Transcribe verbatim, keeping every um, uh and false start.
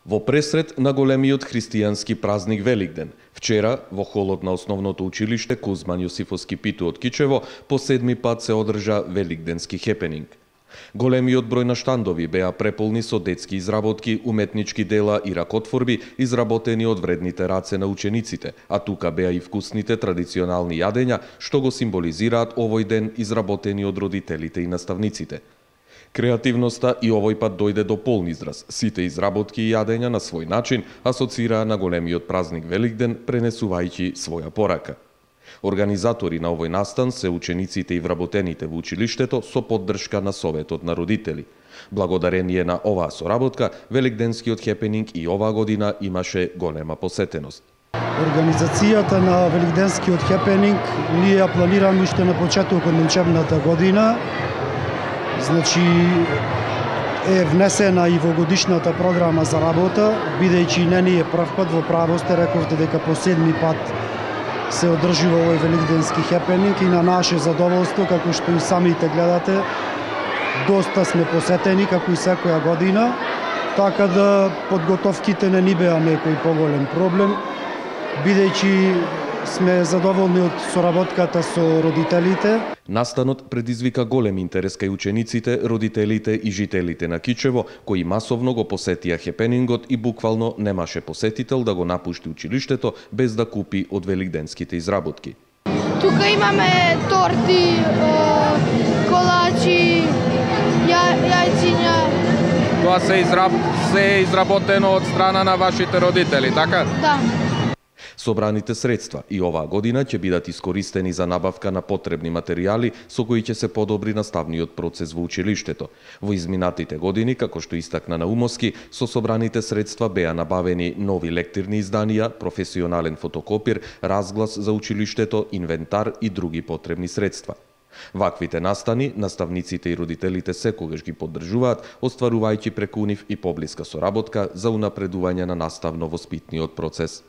Во пресред на големиот христијански празник Великден, вчера во холот на основното училиште Кузман Јосифовски Питу од Кичево по седми пат се одржа великденски хепенинг. Големиот број на штандови беа преполни со детски изработки, уметнички дела и ракотворби изработени од вредните раце на учениците, а тука беа и вкусните традиционални јадења што го символизираат овој ден изработени од родителите и наставниците. Креативноста и овој пат дојде до полн израз. Сите изработки и јадења на свој начин асоцираа на големиот празник Великден, пренесувајќи своја порака. Организатори на овој настан се учениците и вработените во училиштето со поддршка на Советот на родители. Благодарение на оваа соработка, великденскиот хепенинг и оваа година имаше голема посетеност. Организацијата на великденскиот хепенинг ние ја планираме уште на почетокот на учебната година. Значи е внесена и во годишната програма за работа, бидејќи не ни е прв пат, во право сте рековте дека по седми пат се одржува овој великденски хепенинг и на наше задоволство, како што и самите гледате, доста сме посетени, како и секоја година, така да подготовките не ни беа некој поголем проблем, бидејќи сме задоволни од соработката со родителите. Настанот предизвика голем интерес кај учениците, родителите и жителите на Кичево, кои масовно го посетија хепенингот и буквално немаше посетител да го напушти училиштето без да купи од великденските изработки. Тука имаме торти, колачи, ја, јајциња. Тоа се, израб... се изработено од страна на вашите родители, така? Да. Собраните средства и оваа година ќе бидат искористени за набавка на потребни материјали со кои ќе се подобри наставниот процес во училиштето. Во изминатите години, како што истакна Наумовски, со собраните средства беа набавени нови лектирни изданија, професионален фотокопир, разглас за училиштето, инвентар и други потребни средства. Ваквите настани, наставниците и родителите секогаш ги поддржуваат, остварувајќи преку нив и поблиска соработка за унапредување на наставно-воспитниот процес.